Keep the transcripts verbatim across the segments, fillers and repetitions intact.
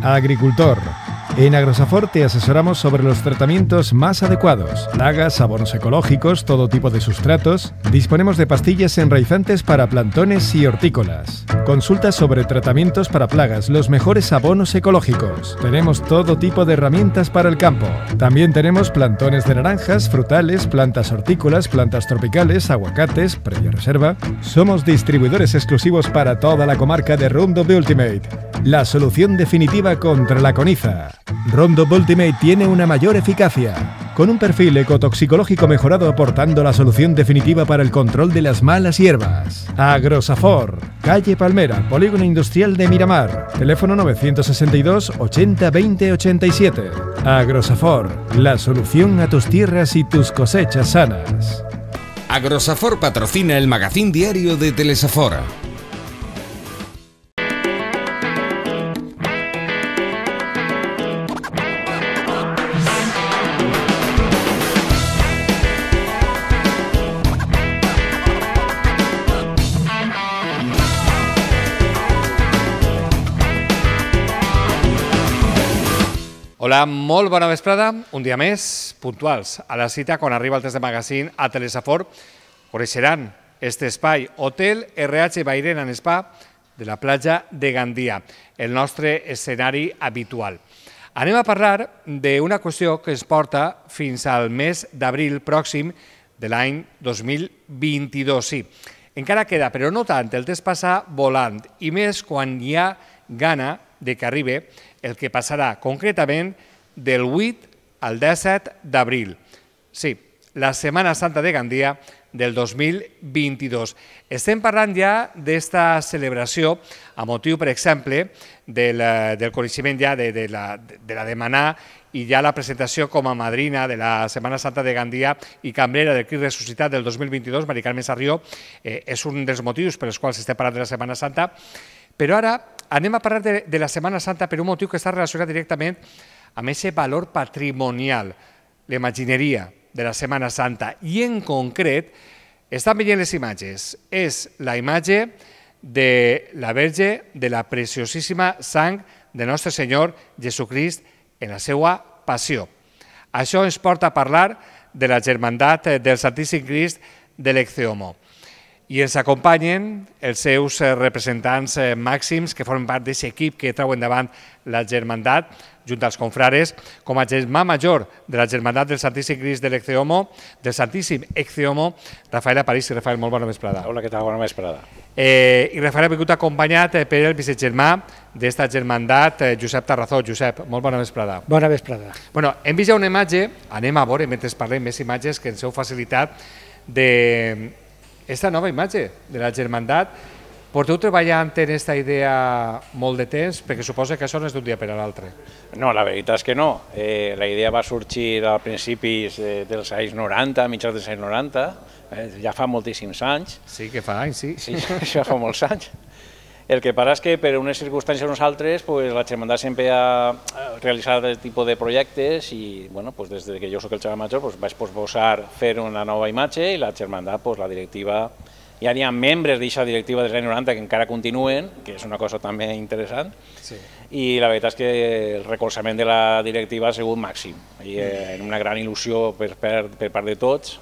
Agricultor. En Agrosafor te asesoramos sobre los tratamientos más adecuados, plagas, abonos ecológicos, todo tipo de sustratos. Disponemos de pastillas enraizantes para plantones y hortícolas. Consulta sobre tratamientos para plagas, los mejores abonos ecológicos. Tenemos todo tipo de herramientas para el campo. También tenemos plantones de naranjas, frutales, plantas hortícolas, plantas tropicales, aguacates, previa reserva. Somos distribuidores exclusivos para toda la comarca de Roundup Ultimate, la solución definitiva contra la coniza. Roundup Ultimate tiene una mayor eficacia, con un perfil ecotoxicológico mejorado aportando la solución definitiva para el control de las malas hierbas. Agrosafor, calle Palmera, Polígono Industrial de Miramar, teléfono novecientos sesenta y dos ochenta veinte ochenta y siete. Agrosafor, la solución a tus tierras y tus cosechas sanas. Agrosafor patrocina el magazín diario de Telesafor. Hola, molt bona vesprada, un dia més, puntuals, a la cita quan arriba el test de magazín a Telesafor. Coneixeran este espai, Hotel R H Bairén and Spa de la platja de Gandia, el nostre escenari habitual. Anem a parlar d'una qüestió que ens porta fins al mes d'abril pròxim de l'any dos mil vint-i-dos. Sí, encara queda, però no tant, el temps passa volant, i més quan hi ha gana de que arribi el que passarà concretament del vuit al disset d'abril. Sí, la Setmana Santa de Gandia del dos mil vint-i-dos. Estem parlant ja d'esta celebració a motiu, per exemple, del, del coneixement ja de, de, la, de la demanar i ja la presentació com a madrina de la Setmana Santa de Gandia i cambrera del Crist Ressuscitat del dos mil vint-i-dos, Mari Carmen Sarrió, eh, és un dels motius per als quals estem parlant de la Setmana Santa. Però ara anem a parlar de, de la Setmana Santa per un motiu que està relacionat directament amb aquest valor patrimonial, l'imagineria de la Setmana Santa. I en concret, estan veient les imatges, és la imatge de la Verge de la preciosíssima sang de Nostre Senyor Jesucrist en la seva passió. Això ens porta a parlar de la germandat del Santíssim Crist de l'Ecce-Homo. I ens acompanyen els seus representants màxims que formen part d'aquest equip que treu endavant la germandat, junt als confrares, com a germà major de la germandat del Santíssim Crist de l'Ecce-Homo, del Santíssim Ecce-Homo, Rafael Aparici. Rafael, molt bona vesprada. Hola, què tal? Bona vesprada. Eh, I Rafael ha vingut acompanyat per el vicegermà d'esta germandat, Josep Tarrazó. Josep, molt bona vesprada. Bona vesprada. Bueno, hem vist ja una imatge, anem a veure, mentre parlem, més imatges que ens heu facilitat de esta nova imatge de la germandat. Porteu treballant en aquesta idea molt de temps, perquè suposa que això no és d'un dia per a l'altre. No, la veritat és que no. Eh, la idea va sorgir a principis eh, dels anys noranta, mitjans dels anys noranta, eh, ja fa moltíssims anys. Sí, que fa anys, sí. Sí, això fa molts anys. El que passa és que per unes circumstàncies o nosaltres, pues, la germandat sempre ha realitzat aquest tipus de projectes i bueno, pues, des que jo soc el germà major pues, vaig posposar fer una nova imatge i la germandat, pues, la directiva, ja hi ha membres d'aquesta directiva dels anys noranta que encara continuen, que és una cosa també interessant, sí. I la veritat és que el recolzament de la directiva ha sigut màxim, i eh, una gran il·lusió per, per, per part de tots.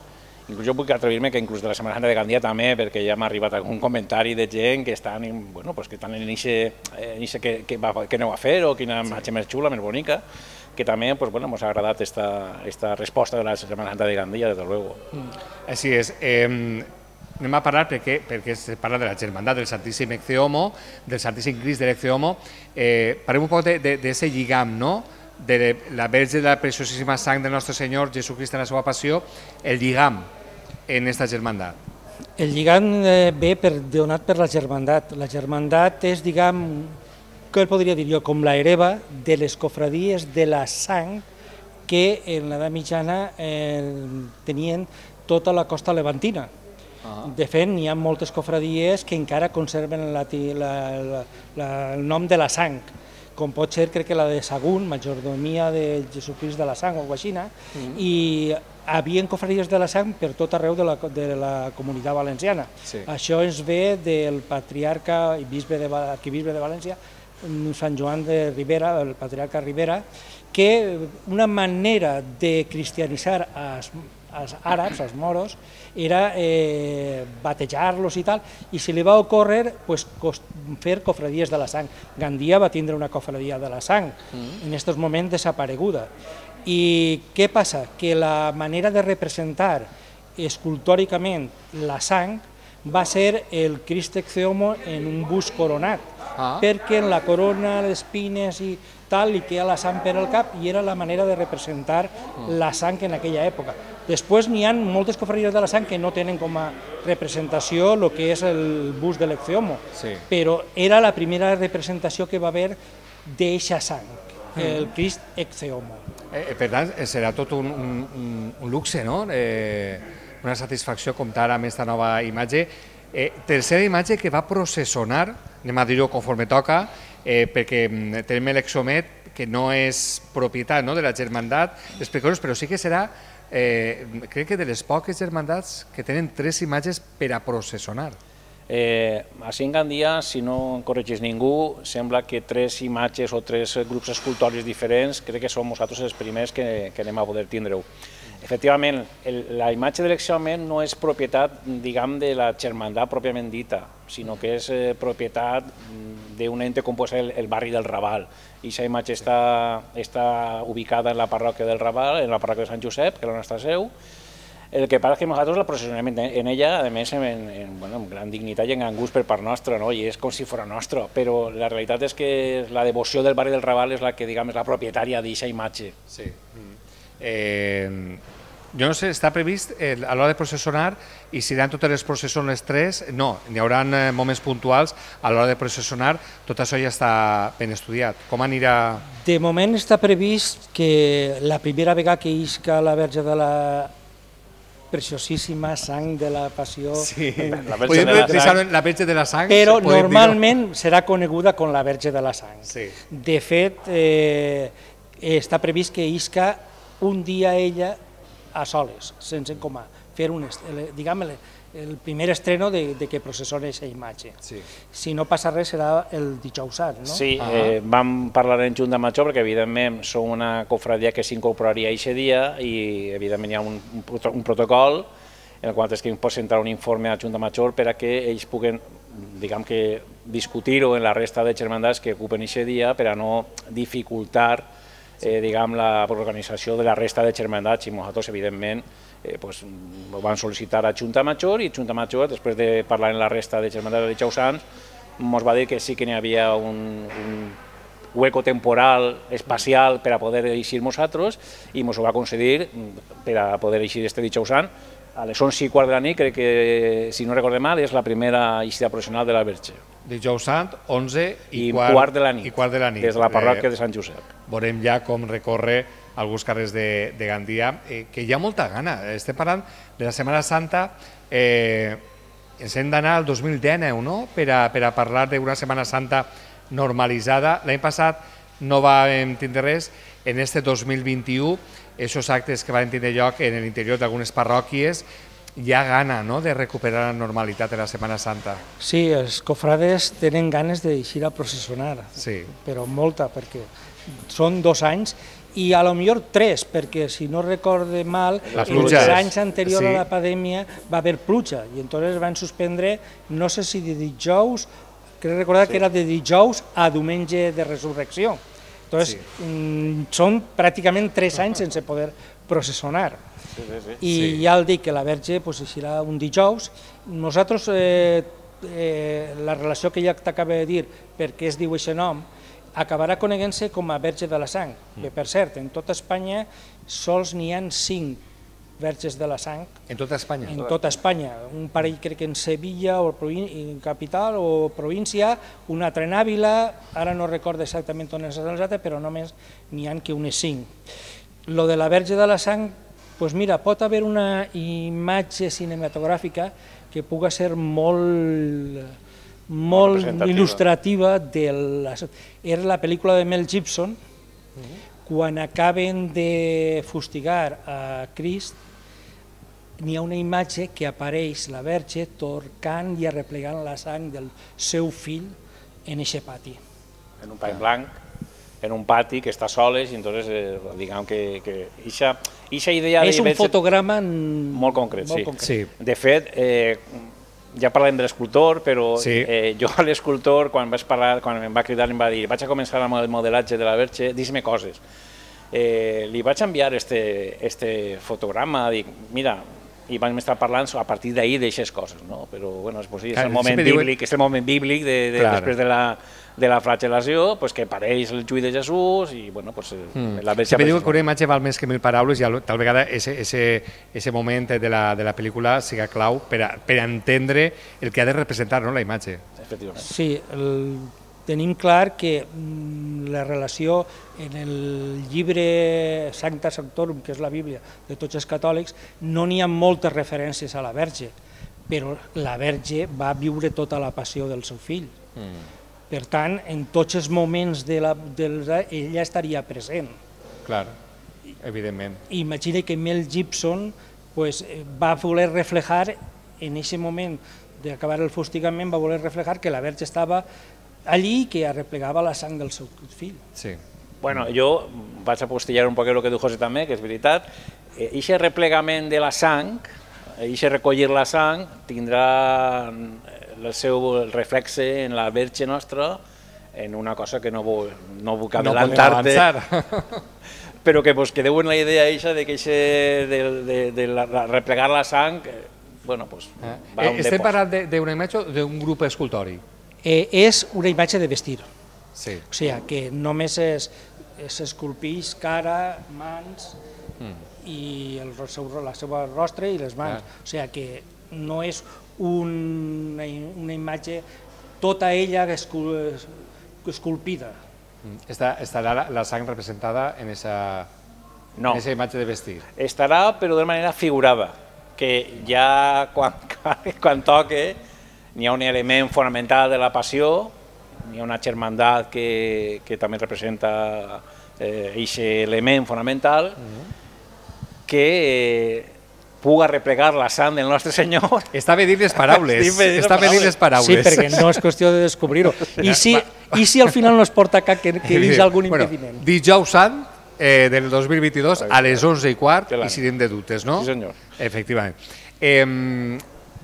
Inclús jo puc atrevir-me que inclús de la Setmana Santa de Gandia també, perquè ja m'ha arribat algun comentari de gent que estan en, bueno, pues que estan en aquest que, que, que aneu a fer o quina imatge més xula, més bonica, que també pues, bueno, ens ha agradat esta, esta resposta de la Setmana Santa de Gandia, des de luego. Així és. Eh, anem a parlar perquè, perquè es parla de la germandat del Santíssim Ecce-Homo, del Santíssim Crist de l'Ecce-Homo. Eh, parlem un poc d'aquest lligam, no?, de la Verge de la preciosíssima sang del nostre Senyor Jesucrist en la seva passió, el lligam en aquesta germandat. El lligam ve per, donat per la germandat. La germandat és, diguem, què podria dir jo, com la hereva de les cofradies de la sang que en l'edat mitjana eh, tenien tota la costa levantina. Uh-huh. De fet, hi ha moltes cofradies que encara conserven la, la, la, la, el nom de la sang, com pot ser, crec que la de Sagún, Majordomia de Jesucrist de la Sang o alguna cosa així, mm. i hi havia cofradies de la sang per tot arreu de la, de la comunitat valenciana. Sí. Això ens ve del patriarca i bisbe de, arquibisbe de València, Sant Joan de Ribera, el patriarca Ribera, que una manera de cristianitzar els, els àrabs, els moros, era eh, batejar-los i tal, i se li va ocórrer pues, fer cofradies de la sang. Gandia va tindre una cofradia de la sang, mm. en aquests moments desapareguda. I què passa? Que la manera de representar escultòricament la sang va ser el Crist Ecce-Homo en un bust coronat, ah. perquè en la corona, les espines i tal, li queda la sang per al cap i era la manera de representar mm. la sang en aquella època. Després n'hi ha moltes cofradies de la sang que no tenen com a representació el que és el bust de l'Ecce-Homo, sí. però era la primera representació que va haver d'eixa sang, mm. el Crist Ecce-Homo. Eh, per tant, serà tot un, un, un luxe, no? Eh... una satisfacció comptar amb aquesta nova imatge. Eh, tercera imatge que va processionar, anem a dir-ho conforme toca, eh, perquè tenim l'Exomet, que no és propietat no, de la germandat, explicar-nos, però sí que serà, eh, crec que de les poques germandats que tenen tres imatges per a processionar. Eh, així en Gandia, si no corregís ningú, sembla que tres imatges o tres grups escultòrics diferents, crec que som nosaltres els primers que, que anem a poder tindre-ho. Efectivament, el, la imatge de l'Exomet no és propietat, diguem, de la germandat pròpiament dita, sinó que és eh, propietat d'un ente com pot ser el, el barri del Raval. I aquesta imatge està, està ubicada en la parròquia del Raval, en la parròquia de Sant Josep, que és la nostra seu. El que passa és que nosaltres la processionem en ella, a més, en, en, bueno, amb gran dignitat i en gran gust per part nostra, no? I és com si fos nostre, però la realitat és que la devoció del barri del Raval és la que, diguem, és la propietària d'aquesta imatge. Sí. Eh, jo no sé, està previst eh, a l'hora de processionar i si seran totes les processions tres, no, n'hi haurà eh, moments puntuals a l'hora de processionar, tot això ja està ben estudiat. Com anirà? De moment està previst que la primera vegada que isca la Verge de la preciosíssima sang de la Passió, sí. la, Verge de la, sang. la Verge de la Sang, però normalment serà coneguda com la Verge de la Sang. Sí. De fet, eh, està previst que isca un dia ella a soles, sense com a fer un, diguem, el primer estreno de, de que processona aquesta imatge. Sí. Si no passa res serà el dijous sant, no? Sí, ah. eh, vam parlar en Junta Major perquè evidentment som una cofradia que s'incorporaria aquest dia i evidentment hi ha un, un protocol en el qual es que pot presentar un informe a Junta Major per a que ells puguen, diguem que, discutir-ho en la resta de germandats que ocupen aquest dia per a no dificultar Eh, diguem, l'organització de la resta de germandats i nosaltres, evidentment, eh, pues, ho van sol·licitar a Junta Major i Junta Major, després de parlar amb la resta de germandats de dijous sant, ens va dir que sí que n'hi havia un, un hueco temporal, espacial, per a poder eixir nosaltres i ens ho va concedir per a poder eixir este dijous sant. A les onze i quart de la nit, crec que, si no recordem mal, és la primera eixida professional de la Verge. Dijous sant, onze i, I quart, quart de la nit, i quart de la nit, des de la parròquia de Sant Josep. Veurem ja com recorre alguns carrers de, de Gandia, eh, que hi ha molta gana. Estem parlant de la Setmana Santa, eh, ens hem d'anar al dos mil dinou, no?, per a, per a parlar d'una Setmana Santa normalitzada. L'any passat no vam tindre res, en este dos mil vint-i-u, aquests actes que van tindre lloc en l'interior d'algunes parròquies, hi ha gana, no?, de recuperar la normalitat de la Setmana Santa. Sí, els cofrades tenen ganes d'eixir a processionar, sí. però molta, perquè són dos anys i a lo millor tres, perquè si no recorde mal, els anys anteriors sí. a la pandèmia va haver pluja i entonces van suspendre, no sé si de dijous, crec recordar sí. que era de dijous a diumenge de resurrecció. Entonces, sí. mmm, són pràcticament tres anys sense poder processionar. Sí, sí, sí. I sí. ja el dic que la Verge pues, eixirà un dijous. Nosaltres, eh, eh, la relació que ja t'acaba de dir, perquè es diu aquest nom, acabarà coneguent-se com a Verge de la Sang, mm. que per cert, en tota Espanya sols n'hi ha cinc Verges de la Sang. En tota Espanya? En tota Espanya. Un parell crec que en Sevilla, o en capital o província, un altre en Àvila, ara no recordo exactament on és l'altre, però només n'hi ha que unes cinc. Lo de la Verge de la Sang, doncs mira, pot haver una imatge cinematogràfica que puga ser molt, molt il·lustrativa. De la... Era la pel·lícula de Mel Gibson, uh-huh. quan acaben de fustigar a Crist, n'hi ha una imatge que apareix la Verge torcant i arreplegant la sang del seu fill en eixe pati. en un país blanc, en un pati que està soles, i entonces, eh, diguem que, que ixa, ixa idea... És un fotograma molt concret, molt sí. concret. Sí. De fet, eh, ja parlem de l'escultor, però Sí. eh, jo a l'escultor, quan vaig parlar, quan em va cridar, em va dir, vaig a començar amb el modelatge de la Verge, dis-me coses. Eh, li vaig enviar este, este fotograma, dic, mira, i vam estar parlant a partir d'ahir d'aixes coses, no? Però, bueno, és, pues, sí, és, Clar, el moment sempre bíblic, diuen- és el moment bíblic de, de, Clar. després de la, de la flagel·lació, pues, que apareix el juí de Jesús i, bueno, pues, Mm. la Verge Sempre diuen apareix. que una imatge val més que mil paraules i al- tal vegada ese, ese, ese moment de la, de la pel·lícula siga clau per a, per a entendre el que ha de representar, no, la imatge. Efectivament. Sí, el, tenim clar que mm, la relació en el llibre Sancta Sanctorum, que és la Bíblia de tots els catòlics, no n'hi ha moltes referències a la Verge, però la Verge va viure tota la passió del seu fill. Mm. Per tant, en tots els moments de la, del, ella estaria present. Clar, evidentment. Imagina que Mel Gibson pues, va voler reflejar en aquest moment d'acabar el fustigament, va voler reflejar que la Verge estava allí i que arreplegava la sang del seu fill. Sí. Bueno, jo vaig a postillar un poc el que diu José també, que és veritat. Eixe replegament de la sang, eixe recollir la sang, tindrà el seu reflexe en la Verge nostra, en una cosa que no vull, no vull No podem adelantar-te, avançar. però que vos quedeu en la idea eixa de que eixe de, de, de la, la, replegar la sang, eh, bueno, pues, va Eh, on de estem posa. parlant de- d'una imatge o d'un grup escultòric? Eh, és una imatge de vestir, Sí. o sigui que només es, es esculpeix cara, mans Mm. i el seu, la seva rostre i les mans, Clar. o sigui que no és un, una imatge tota ella escul, esculpida. Mm. Està, estarà la, la sang representada en esa, No. en esa imatge de vestir. Estarà, però de manera figurada, que ja quan, quan toque n'hi ha un element fonamental de la passió, n'hi ha una germandat que, que també representa aquest eh, element fonamental, que eh, puga replegar la sang del nostre Senyor. Està bé dir les paraules. Estic bé dir les Està bé dir les paraules. Sí, perquè no és qüestió de descobrir-ho. I, si, I si al final no es porta cap que, que hi hagi algun Bueno, impediment? Dijous Sant eh, del dos mil vint-i-dos a les onze i quart Que l'any. i sirem de dutes, no? Sí, senyor. Efectivament. Eh,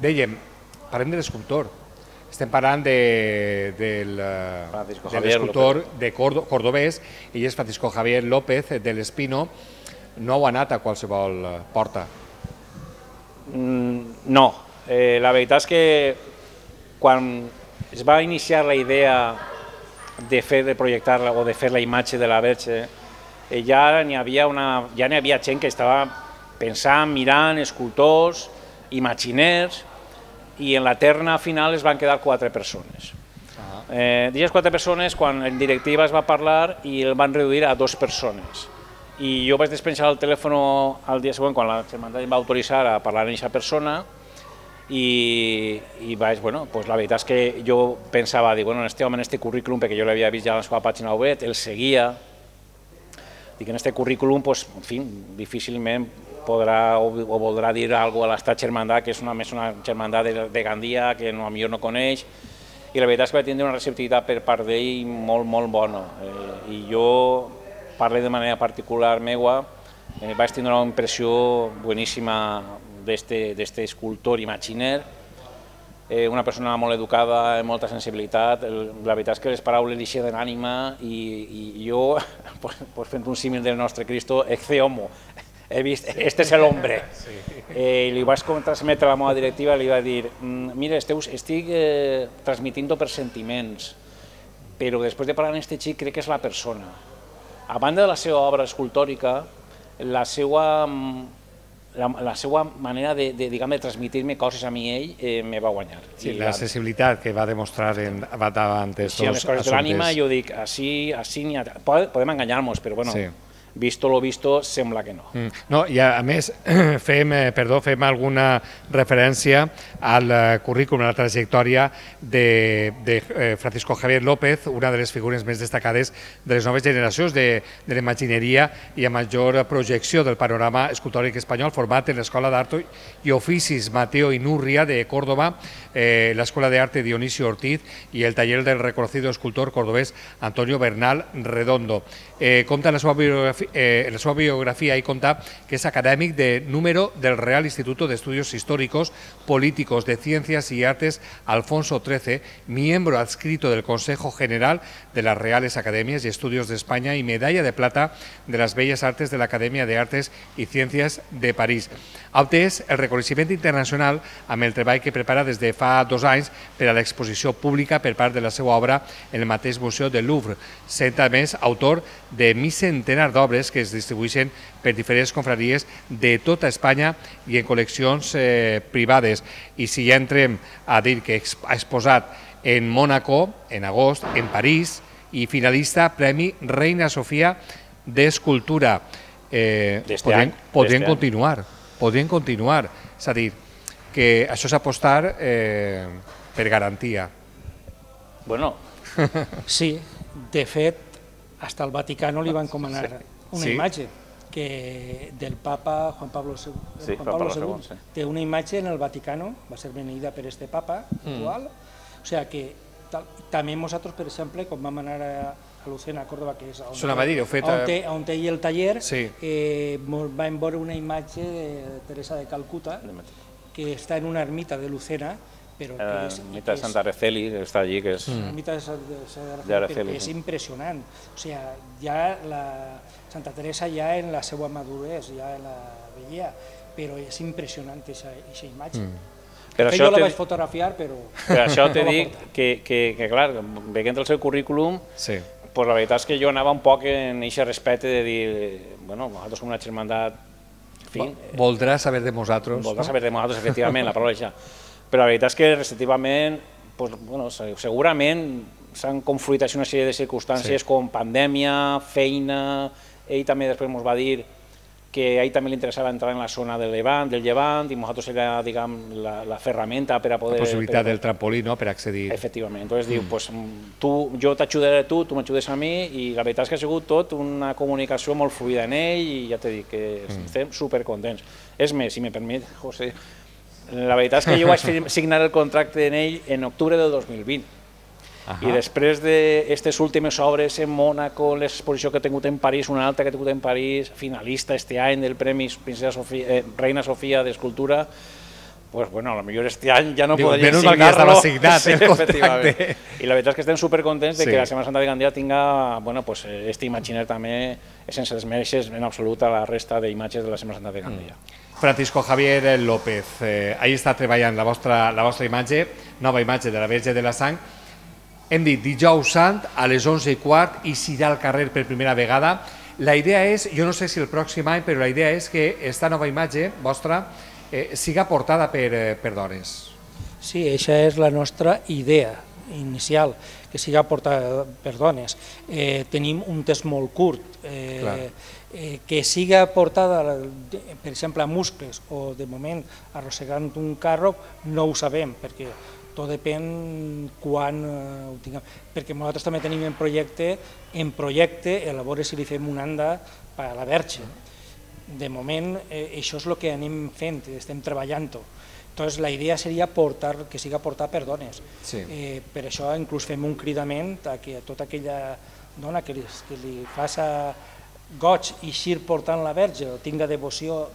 dèiem, parlem de l'escultor. Estem parlant de, del, eh, Francisco de Javier l'escultor de Cordo, cordobès, ell és Francisco Javier López de l'Espino. No ho ha anat a qualsevol eh, porta. Mm, no, eh, la veritat és que quan es va iniciar la idea de fer de projectar-la o de fer la imatge de la Verge, eh, ja n'hi havia una, ja n'hi havia gent que estava pensant, mirant, escultors, imaginers, i en la terna final es van quedar quatre persones. Eh, D'aquestes quatre persones, quan en directiva es va parlar i el van reduir a dues persones. I jo vaig despenjar el telèfon al dia següent, quan la Germandat em va autoritzar a parlar amb aquesta persona, i, i vaig, bueno, pues la veritat és que jo pensava, dic, bueno, en este home, en este currículum, perquè jo l'havia vist ja a la seva pàgina web, el seguia, dic, en este currículum, pues, en fi, difícilment podrà o, o voldrà dir alguna cosa a l'estat Germandat, que és una, més una Germandat de, de Gandia, que no, a millor no coneix, i la veritat és que va tindre una receptivitat per part d'ell molt, molt bona. Eh, I jo parlo de manera particular meua, eh, vaig tenir una impressió boníssima d'aquest escultor imaginer, eh, una persona molt educada, amb molta sensibilitat. El, la veritat és que les paraules li eixen d'ànima i, i jo, pues, pues fent un símil del nostre Cristo, ecce homo, he vist, este és l'hombre. Sí. Eh, li vaig transmetre a la meva directiva, li va dir, mira, esteu, estic eh, transmitint per sentiments, però després de parlar amb aquest xic crec que és la persona. A banda de la seva obra escultòrica, la seva, la, la seva manera de, de, diguem, de transmitir-me coses a mi ell eh, me va guanyar. Sí, I la sensibilitat que va demostrar en, davant d'aquests sí, a les coses de l'ànima, jo dic, així, així n'hi ha... Podem enganyar-nos, però bueno, Sí. visto lo visto, sembla que no. Mm. No, i a, a més fem, eh, perdó, fem alguna referència al eh, currículum, a la trajectòria de, de eh, Francisco Javier López, una de les figures més destacades de les noves generacions de, de l'imagineria i a major projecció del panorama escultòric espanyol, format en l'Escola d'Art i Oficis Mateo Inurria de Córdoba, eh, la Escuela de Arte Dionisio Ortiz y el taller del reconocido escultor cordobés Antonio Bernal Redondo. Eh, compta en la seva biografia, eh, en la seva biografia y conta que es académic de número del Real Instituto de Estudios Históricos, Políticos, de Ciencias y Artes Alfonso trece, miembro adscrito del Consejo General de las Reales Academias y Estudios de España y medalla de plata de las Bellas Artes de la Academia de Artes y Ciencias de París. Ha obtès el reconeixement internacional amb el treball que prepara des de fa dos anys per a l'exposició pública per part de la seva obra en el mateix Museu del Louvre, sent a més autor de mig centenar d'obres que es distribueixen per diferents confraries de tota Espanya i en col·leccions eh, privades. I si ja entrem a dir que ha exposat en Mònaco, en agost, en París, i finalista Premi Reina Sofia d'Escultura. Eh, podrien podrien continuar, podrien continuar. És a dir, que això és apostar eh, per garantia. Bueno. Sí, de fet, fins al Vaticano li van encomanar una Sí. imatge que del papa Juan Pablo segundo. Sí, Juan Juan Pablo Pablo segundo. segundo, sí. Té una imatge en el Vaticano, va ser beneïda per este papa actual. O sigui que tal, també nosaltres, per exemple, quan vam anar a, a Lucena, a Córdoba, que és on, S'ho anava a dir, heu fet, on, eh, té, on té el taller, Sí. eh, mos vam veure una imatge de Teresa de Calcuta, que està en una ermita de Lucena, però que La és... ermita de que és- Santa Araceli, que està allí, que és... la ermita de Sant- de Sant De Araceli, Araceli, però és sí. impressionant. O sigui, ja la Santa Teresa ja en la seva madurez, ja en la vella, però és impressionant aquesta imatge. Per Que això jo la te- vaig fotografiar, però... Per això te no la dic porta. que, que, que clar, veient el seu currículum, Sí. pues la veritat és que jo anava un poc en aquest respecte de dir, bueno, nosaltres som una germandat, en fi, Voldrà saber de nosaltres. voldrà saber de nosaltres, efectivament, la paraula ja. Però la veritat és que receptivament, pues, bueno, se- segurament s'han confluit així una sèrie de circumstàncies Sí. com pandèmia, feina, ell també després ens va dir que a ell també li interessava entrar en la zona del Llevant, del Llevant i nosaltres era, diguem, la, la ferramenta per a poder... La possibilitat per a- del trampolí, no?, per accedir. Efectivament, entonces diu, pues, tu, jo t'ajudaré a tu, tu m'ajudes a mi, i la veritat és que ha sigut tot una comunicació molt fluida en ell, i ja t'he dit que estem supercontents. És més, si me permet, José, la veritat és que jo vaig fir- signar el contracte en ell en octubre del dos mil vint, i després d'aquestes últimes obres en Mònaco, l'exposició que he tingut en París, una altra que he tingut en París, finalista este any del Premi Princesa Sofia, eh, Reina Sofia d'Escultura, pues bueno, a lo millor este any ja no Diu, podria menys mal que ja signarlo. estava signat, Sí, el contracte. efectivament. I la veritat és que estem supercontents de Sí. que la Setmana Santa de Gandia tinga, bueno, pues este imaginer també, sense desmereixer en absolut a la resta d'imatges de la Setmana Santa de Gandia. Francisco Javier López, eh, ahí està treballant la vostra, la vostra imatge, nova imatge de la Verge de la Sang. Hem dit dijous sant a les onze i quart i s'irà al carrer per primera vegada. La idea és, jo no sé si el pròxim any, però la idea és que esta nova imatge vostra eh, siga portada per, eh, per dones. Sí, aquesta és la nostra idea inicial, que siga portada per dones. Eh, tenim un test molt curt, eh, eh, que siga portada, per exemple, a muscles o de moment arrossegant un carro, no ho sabem, perquè tot depèn quan eh, ho tinguem. Perquè nosaltres també tenim en projecte, en projecte, a veure si li fem un anda per a la Verge. De moment, eh, això és el que anem fent, estem treballant-ho. Entonces, la idea seria portar, que siga portat per dones. Sí. Eh, per això inclús fem un cridament a que tota aquella dona que li, que li faça goig i xir portant la Verge o tinga devoció,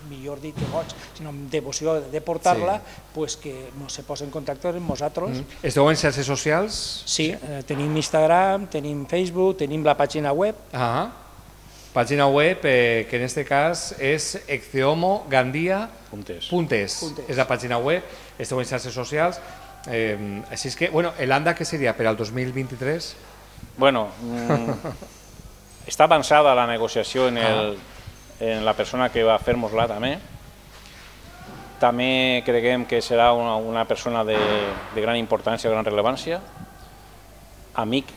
millor dit que goig, sinó devoció de portar-la, Sí. pues que no se posa en contacte amb nosaltres. Esteu en xarxes socials? Sí, eh, tenim Instagram, tenim Facebook, tenim la pàgina web. Ah, pàgina web eh, que en este cas és ecceomogandia Puntes. Puntes. Puntes. És la pàgina web, esteu en xarxes socials. Eh, així és que, bueno, el ANDA què seria per al dos mil vint-i-tres? Bueno, mm, està avançada la negociació en, el, en la persona que va fer-nos-la també. També creguem que serà una, una persona de, de gran importància, de gran rellevància, amic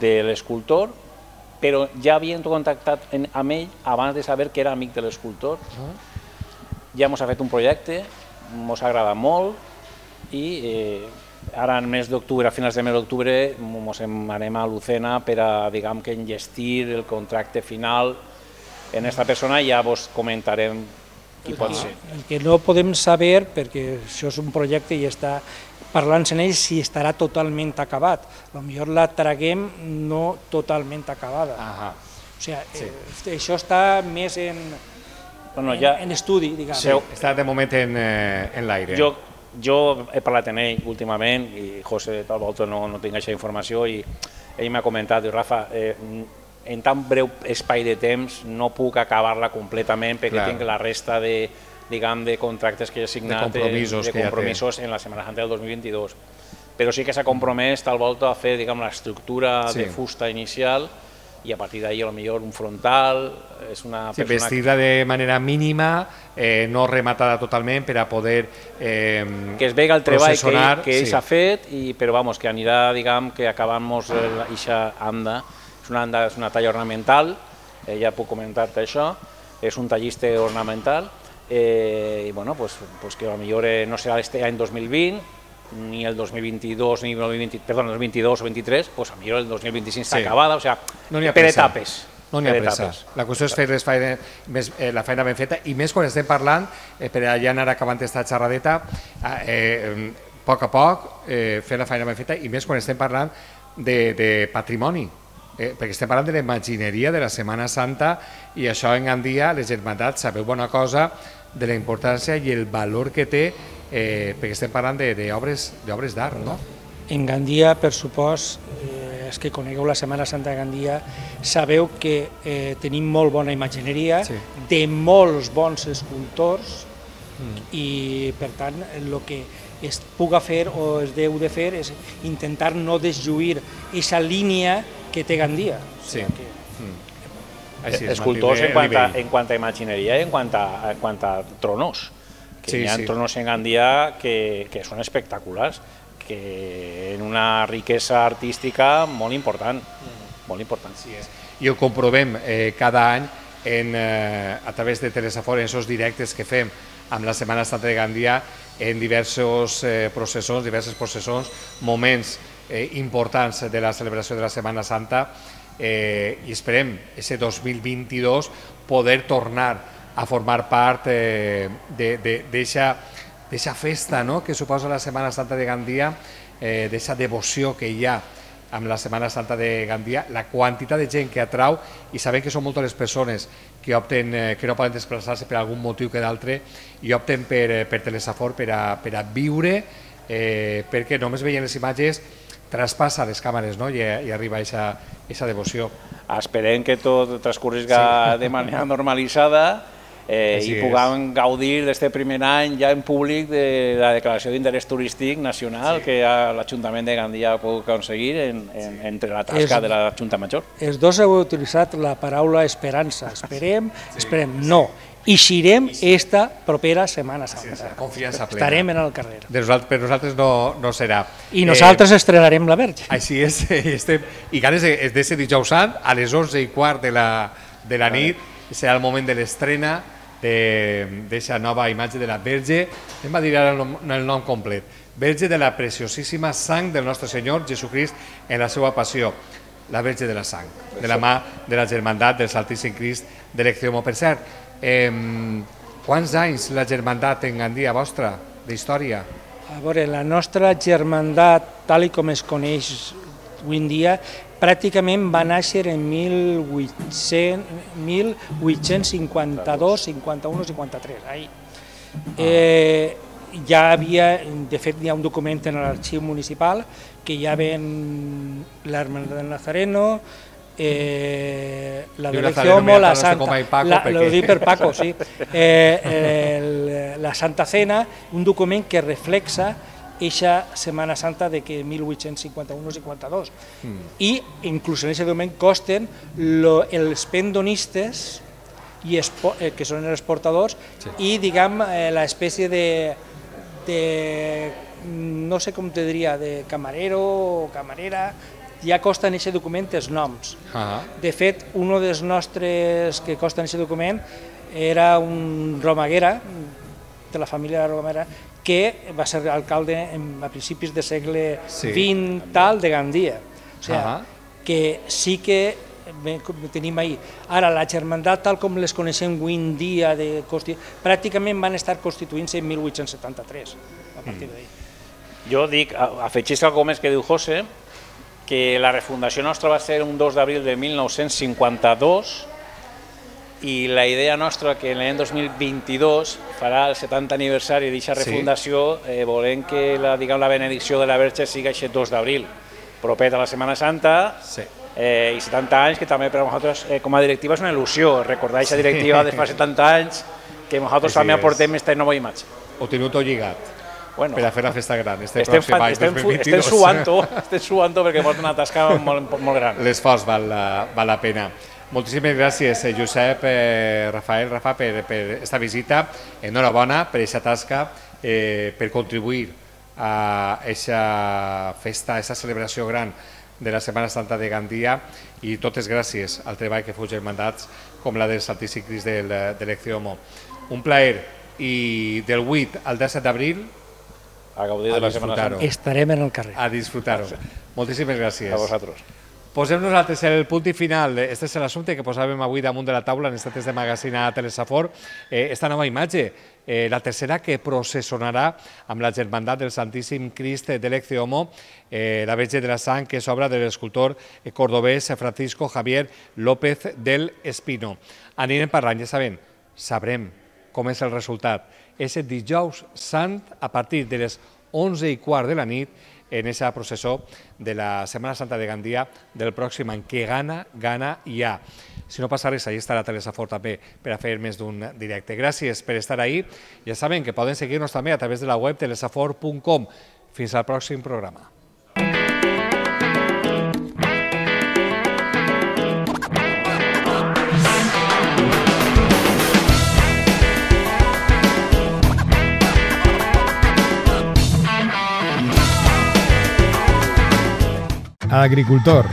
de l'escultor, però ja havien contactat en, amb ell abans de saber que era amic de l'escultor. Ja ens ha fet un projecte, ens ha agradat molt i eh, ara en mes d'octubre, a finals de mes d'octubre, ens anem a Lucena per a, diguem que, enllestir el contracte final en aquesta persona i ja vos comentarem qui pot ser. El que no podem saber, perquè això és un projecte i està parlant-se en ell, si estarà totalment acabat. Potser la traguem no totalment acabada. Ahà. O sigui, eh, això està més en, Bueno, en, ja, en estudi, diguem. Seu- Està de moment en, eh, en l'aire. jo, jo he parlat amb ell últimament i José tal volta no, no tinc aquesta informació i ell m'ha comentat, diu, Rafa, eh, en tan breu espai de temps no puc acabar-la completament perquè Clar. tinc la resta de, diguem, de contractes que he signat, De compromisos de que ja té. compromisos en la Setmana Santa del dos mil vint-i-dos. Però sí que s'ha compromès tal volta a fer, diguem, l'estructura Sí. de fusta inicial i a partir d'ahir potser un frontal, és una Sí, persona... vestir-la de manera mínima, eh, no rematada totalment per a poder eh, que es vega el treball que ell, processionar, que ell sí. s'ha fet, i, però vamos, que anirà, diguem, que acabant-nos aquesta anda. És una anda, és una talla ornamental, eh, ja puc comentar-te això, és un tallista ornamental, eh, i bueno, pues, pues que potser eh, no serà este any dos mil vint, ni el dos mil vint-i-dos, ni el dos mil vint, perdó, el dos mil vint-i-dos o vint-i-tres, pues potser el dos mil vint-i-cinc està Sí. acabada, o sigui, No n'hi ha per pressa. etapes. No n'hi ha per pressa. etapes. La qüestió és fer les feina, més, eh, la feina ben feta, i més quan estem parlant, eh, per allà anar acabant aquesta xerradeta, eh, eh, a poc a poc, eh, fer la feina ben feta, i més quan estem parlant de, de patrimoni, eh, perquè estem parlant de la imagineria de la Setmana Santa, i això en Gandia, les germandats, sabeu bona cosa de la importància i el valor que té, eh, perquè estem parlant d'obres d'art, no? En Gandia, per supost, eh, els que conegueu la Setmana Santa de Gandia, sabeu que eh, tenim molt bona imagineria, Sí. de molts bons escultors, i per tant el que es puga fer o es deu de fer és intentar no deslluir aquesta línia que té Gandia. O Sí. sigui que Així és, Escultors mantenir en quant, a, el nivell. en quant a imagineria i en quant a, en quant a tronos. Que Sí, hi ha sí. tronos en Gandia que, que són espectaculars, que en una riquesa artística molt important. Molt important. Així és. I ho comprovem eh, cada any en, eh, a través de Telesafor, en aquests directes que fem amb la Setmana Santa de Gandia, en diversos eh, processons, diverses processons, moments eh, importants de la celebració de la Setmana Santa, eh, i esperem, aquest dos mil vint-i-dos, poder tornar a formar part eh, d'aquesta festa, no?, que suposa la Setmana Santa de Gandia, eh, d'aquesta devoció que hi ha amb la Setmana Santa de Gandia, la quantitat de gent que atrau, i sabem que són moltes les persones que opten, eh, que no poden desplaçar-se per algun motiu que d'altre, i opten per, eh, per Telesafor per a, per a viure, eh, perquè només veient les imatges traspassa les càmeres, no?, i, i arriba a aquesta devoció. Esperem que tot transcorrisca de manera normalitzada eh, Així i és. puguem gaudir d'aquest primer any ja en públic de la declaració d'interès turístic nacional Sí. que ja l'Ajuntament de Gandia ha pogut aconseguir en, en, entre la tasca És- de la Junta Major. els dos heu utilitzat la paraula esperança. Esperem, esperem, no. Eixirem esta propera Setmana Santa. Confiança plena. Estarem en el carrer. De nosaltres, per nosaltres no, no serà. I nosaltres estrenarem la Verge. Eh, així és, i estem, i ganes de, de ser dijous sant, a les onze i quart de la, de la nit, serà el moment de l'estrena d'aquesta nova imatge de la Verge. Anem a dir ara el nom, el nom complet. Verge de la preciosíssima sang del nostre Senyor Jesucrist en la seva passió. La Verge de la Sang, de la mà de la Germandat del Santíssim Crist de l'Ecceomo. Per cert, eh, quants anys la Germandat en Gandia vostra, d'història? A veure, la nostra germandat, tal i com es coneix avui en dia, pràcticament va néixer en mil vuit-cents cinquanta-dos, cinquanta-u, cinquanta-tres. Ahí. Eh, ja havia, de fet, hi ha un document en l'arxiu municipal que ja ven l'Hermandad del Nazareno, eh, la Diu del Nazareno, Ecceomo, mira, la no sé com Santa, hay Paco, la, perquè- lo dic per Paco, sí, eh, el, la Santa Cena, un document que reflexa eixa Setmana Santa de que mil vuit-cents cinquanta-u cinquanta-dos. Mm. I inclús en aquest document consten lo, els pendonistes i espo, eh, que són els portadors, sí. I diguem eh, l'espècie de, de no sé com te diria, de camarero o camarera, ja costa en aquest document els noms. Ah, De fet, un dels nostres que costa en aquest document era un romaguera, de la família de Romera, que va ser alcalde en, a principis del segle Sí. vint tal de Gandia. O sigui, Ah. que sí que tenim ahir. Ara, la germandat, tal com les coneixem avui en dia, de constitu... pràcticament van estar constituint-se en mil vuit-cents setanta-tres, a partir d'ahir. Jo dic, afegeix algo més que diu José, que la refundació nostra va ser un dos d'abril de mil nou-cents cinquanta-dos i la idea nostra que l'any dos mil vint-i-dos farà el setanta aniversari d'aquesta refundació, eh, volem que la, diguem, la benedicció de la Verge sigui aquest dos d'abril, proper a la Setmana Santa, sí. eh, i setanta anys, que també per a nosaltres eh, com a directiva és una il·lusió, recordar aquesta directiva de fa setanta anys, que nosaltres també aportem aquesta nova imatge. Ho teniu tot lligat. Bueno, per a fer la festa gran, este estem, pròxim any estem, dos mil vint-i-dos. Estem suant-ho, estem suant-ho perquè porta una tasca molt, molt gran. L'esforç val, val la pena. Moltíssimes gràcies, Josep, eh, Rafael, Rafa, per, per esta visita. Enhorabona per aquesta tasca, eh, per contribuir a aquesta festa, a aquesta celebració gran de la Setmana Santa de Gandia, i totes gràcies al treball que feu germandats com la del Santíssim Crist del, de l'Ecceomo. Un plaer, i del vuit al disset d'abril a gaudir de la Setmana Santa. Estarem en el carrer. A disfrutar-ho. Moltíssimes gràcies. A vosaltres. Posem nosaltres el punt i final. Este és l'assumpte que posàvem avui damunt de la taula en estats de magazine a Telesafor. Eh, esta nova imatge, eh, la tercera que processonarà amb la germandat del Santíssim Crist de l'Ecceomo, eh, la Verge de la Sang, que és obra de l'escultor cordobès Francisco Javier López del Espino. Anirem parlant, ja sabem, sabrem com és el resultat. És el dijous sant a partir de les onze i quart de la nit en aquesta processó de la Setmana Santa de Gandia del pròxim any, que gana, gana i ha. Si no passa res, allà estarà Telesafor també per a fer més d'un directe. Gràcies per estar ahí. Ja saben que poden seguir-nos també a través de la web telesafor punt com. Fins al pròxim programa. Agricultor.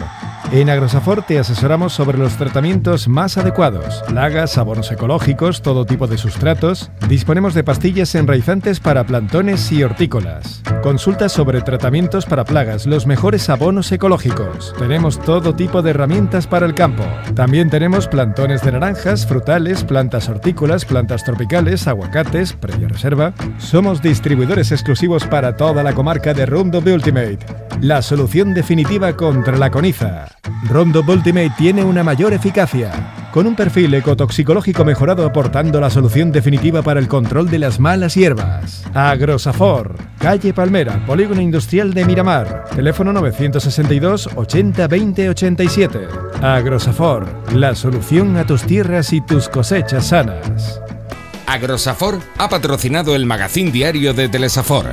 En Agrosafor te asesoramos sobre los tratamientos más adecuados, plagas, abonos ecológicos, todo tipo de sustratos. Disponemos de pastillas enraizantes para plantones y hortícolas. Consulta sobre tratamientos para plagas, los mejores abonos ecológicos. Tenemos todo tipo de herramientas para el campo. También tenemos plantones de naranjas, frutales, plantas hortícolas, plantas tropicales, aguacates, previa reserva. Somos distribuidores exclusivos para toda la comarca de Roundup Ultimate, la solución definitiva contra la coniza. Roundup Ultimate tiene una mayor eficacia, con un perfil ecotoxicológico mejorado, aportando la solución definitiva para el control de las malas hierbas. Agrosafor, calle Palmera, Polígono Industrial de Miramar, teléfono novecientos sesenta y dos ochenta veinte ochenta y siete. Agrosafor, la solución a tus tierras y tus cosechas sanas. Agrosafor ha patrocinado el magazín diario de Telesafor.